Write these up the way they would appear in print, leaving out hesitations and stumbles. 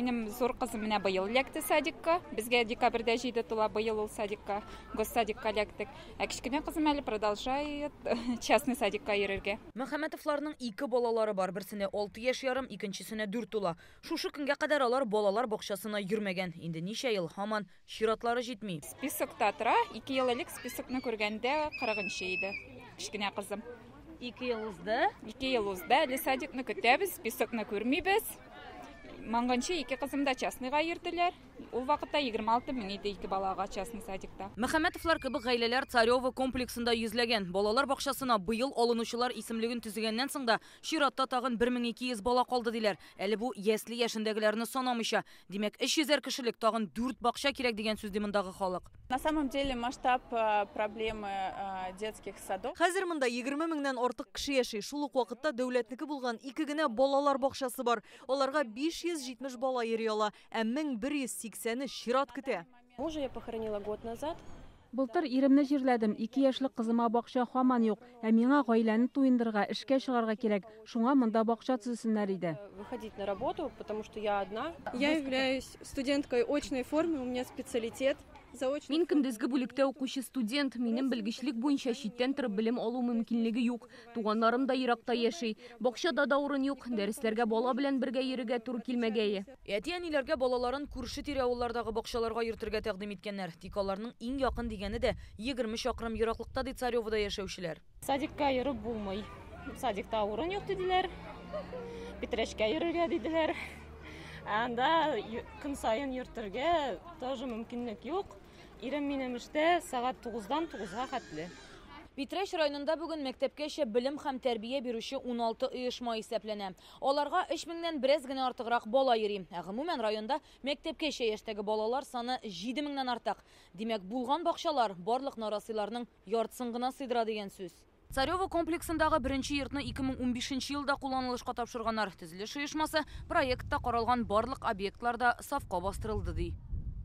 Минем зур кызым менә быел эләкте садикка. Безгә декабрьдә 7 тула, быел ул садикка, госсадикка эләктек. Ә кечкенә кызым әле продолжает частный садикка йөрергә. Мөхәммәтовларның ике балалары бар. Берсенә 6 яшь ярым, икенчесенә 4 тула. Шушы көнгә кадәр алар балалар бакчасына йөрмәгән. Инде ничә ел һаман чиратлары җитми. Списокта тора. 2 ел элек списокны күргәндә 40нчы иде кечкенә кызым. 2 ел узды. 2 ел узды. Әле садикны көтәбез, списокны күрмибез. Моңганчы ике кызым да частныйга йөрделәр. Ул вакытта 26 мең иде ике балага частный садикта. Мөхәммәтовлар кебек гаиләләр Царево комплексында йөзләгән. Балалар бакчасына быел алынучылар исемлеген төзегәннән соң да чиратта тагын 1200 бала калды диләр. Әле бу ясле яшендәгеләрне санамыйча. Димәк, 300 кешелек тагын 4 бакча кирәк дигән сүз ди мондагы халык. На самом деле масштаб проблемы детских садов. Хәзер монда 20 меңнән артык кеше яши. Шул ук вакытта дәүләтнеке булган ике генә балалар бакчасы бар. Аларга 570 бала йөри ала, ә 1180-е чират көтә. Мужа я похоронила год назад. Былтыр иремне җирләдем, 2 яшьлек кызыма бакча һаман юк. Ә миңа гаиләне туендырырга, эшкә чыгарга кирәк. Шуңа монда бакча төзесеннәр иде. Выходить на работу, потому что я одна. Я являюсь студенткой очной формы, у меня специалитет. Заочно. Мин көндезге бүлектә укучы студент, минем белгечлек буенча читтән торып белем алу мөмкинлеге юк. Туганнарым да еракта яши. Бакчада да урын юк. Дәресләргә бала белән бергә йөрергә туры килмәгәе. Әти-әниләргә балаларын күрше-тирә авыллардагы бакчаларга йөртергә тәкъдим иткәннәр. Тик аларның иң якын дигәне дә 20 чакрым ераклыкта, ди Царевода яшәүчеләр. Садикка йөреп булмый. Садикта урын юк диделәр. Питрәчкә йөрергә диделәр. Анда көн саен йөртергә тоже мөмкинлек юк. Ирем минем эштә сәгать тугыздан тугызга хәтле. Питрәч районында бүген мәктәпкәчә белем һәм тәрбия бирүче 16 оешма исәпләнә. Аларга өч меңнән бераз генә артыграк бала йөри. Ә гомумән районда мәктәпкәчә яшьтәге балалар саны җиде меңнән артык. Димәк, булган бакчалар барлык нарасыйларның яртысын гына сыйдыра дигән сүз. Царево комплексындагы беренче йортны ике мең унбишенче елда кулланылышка тапшырганнар. Төзелеш оешмасы проектта каралган барлык объектлар да сафка бастырылды ди.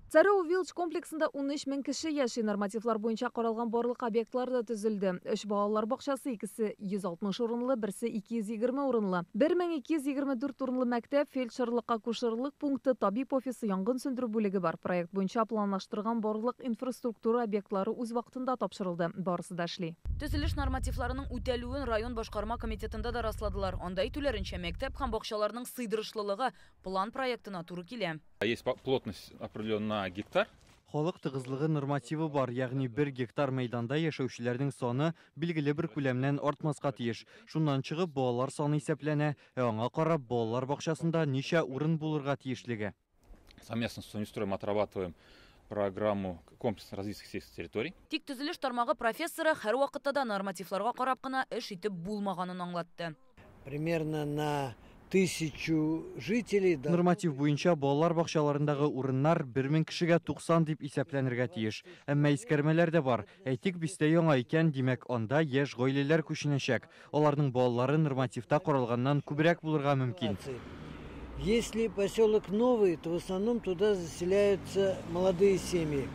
Царево Вилледж комплексында унөч мең кеше яши. Нормативлар буенча каралган барлык объектлар да төзелде. Өч балалар бакчасы, икесе 160 урынлы, берсе 220 урынлы. Бер мең ике йөз егерме дүрт урынлы мәктәп, фельдшерлык-акушерлык пункты, табиб офисы, янгын сүндерү бүлеге бар. Проект буенча планлаштырган барлык инфраструктура объектлары үз вакытында тапшырылды. Барысы да эшли. Төзелеш нормативларының үтәлүен район башкарма комитетында да расладылар. Анда әйтүләренчә, мәктәп һәм бакчаларның сыйдырышлылыгы план проектына туры килә. Есть плотность определенная на гектар. Халык тыгызлыгы нормативы бар, ягъни 1 гектар мәйданда яшәүчеләрнең саны билгеле бер күләмнән артмаска тиеш. Шуннан чыгып балалар саны исәпләнә, ә аңа карап балалар бакчасында ничә урын булырга тиешлеге. Совместно с Минстроем отрабатываем программу комплексного развития сельских территорий. Тик төзелеш тармагы профессоры һәр вакытта да нормативларга карап кына эш итеп булмаганын аңлатты. Примерно на 1000 жителей, да. Норматив буенча балалар бакчаларындагы урыннар бер мең кешегә туксан дип исәпләнергә тиеш. Әмма искәрмәләр дә бар. Әйтик, бистә яңа икән, димәк, анда яшь гаиләләр күченәчәк. Аларның балалары нормативта каралганнан күбрәк булырга мөмкин. Если поселок новый, то в основном туда заселяются молодые семьи.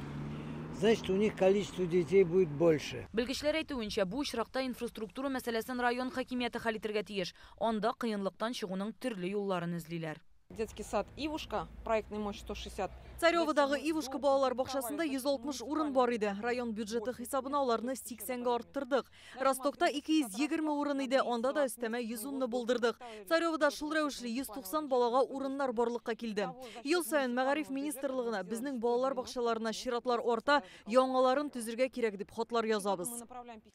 Значит, у них количество детей будет больше. Белгечләр әйтүенчә, бу очракта инфраструктура мәсьәләсен район хакимияте хәл итәргә тиеш. Анда кыенлыктан чыгуның төрле юлларын эзлиләр. Детский сад Ивушка, проектная мощь 160. Цареводагы Ивушка балалар бакчасында 160 урын бар иде. Район бюджеты хисабына аларны сиксәнгә арттырдык. Ростокта 220 урын иде, анда да өстәмә йөз унны булдырдык. Царевода шул рәвешле 190 балага урыннар барлыкка килде. Ел саен Мәгариф министрлыгына безнең балалар бакчаларына чиратлар арта, яңаларын төзергә кирәк дип хатлар язабыз.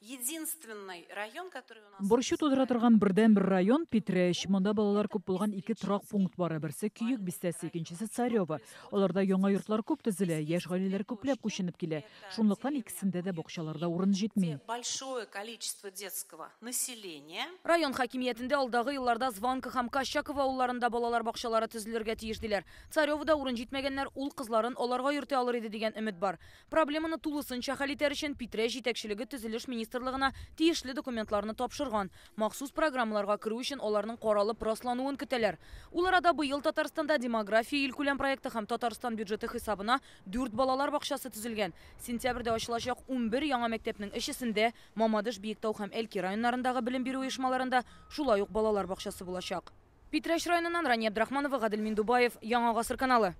Единственный район, который у нас Борчу тудыра торган бердәнбер район Питрәч. Монда балалар күп булган ике торак пункт бар. Берсе Көек бистәсе, икенчесе Царево. Аларда яңа йортлар күп төзелә, яшь гаиләләр күпләп күченеп килә. Шунлыктан икесендә дә бакчаларда урын җитми. Большое количество детского населения. Район хакимиятендә алдагы елларда Званка һәм Кощаково авылларында балалар бакчалары төзелергә тиеш диләр. Царевода урын җитмәгәннәр ул кызларын аларга йөртә алыр иде дигән өмет бар. Проблеманы тулысынча хәл итәр өчен Питрәч җитәкчелеге төзелеш министрлыгына тиешле документларны тапшырган. Махсус программаларга керү өчен аларның каралып раслануын көтәләр. Ул арада быел Татарстанда демография илкүләм проекты һәм Татарстан бюджеты хисабына 4 балалар бакчасы төзелгән. Сентябрьдә ачылачак 11 яңа мәктәпнең өчесендә Мамадыш, Биектау һәм Әлки районнарындагы белем бирү оешмаларында шулай ук балалар бакчасы булачак. Питрәч районыннан Рания Абдрахманова, Гадел Миндубаев, Яңа Гасыр каналы.